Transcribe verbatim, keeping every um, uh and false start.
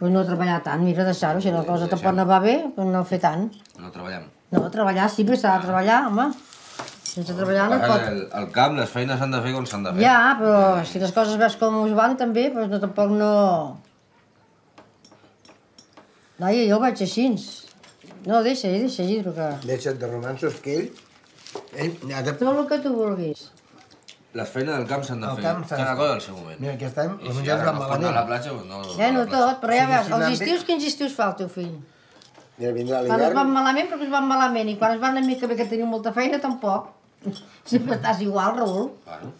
Doncs no treballar tant, mira, deixar-ho. Si la cosa tampoc no va bé, doncs no fer tant. No treballem. No, treballar sí, però s'ha de treballar, home. Sense treballar no pot... Al camp les feines s'han de fer com s'han de fer. Ja, però si les coses veus com us van també, doncs no, tampoc no... Laia, jo ho vaig així. No, deixa, deixa, Gidro, que... Deixa't de romanços, que ell... ell ha de... Tot el que tu vulguis. Les feines del camp s'han de fer, cada cosa al seu moment. Mira, aquest any I els si menjars ara van no es pot anar a la malament. platja, doncs no... Ja, no tot, però ja veus, els estius, quins estius fa el teu fill? Mira, vindrà Quan es l'hivern... van malament, perquè es van malament, i quan es van una mica bé que teniu molta feina, tampoc. Sempre estàs igual, Raül. Bueno.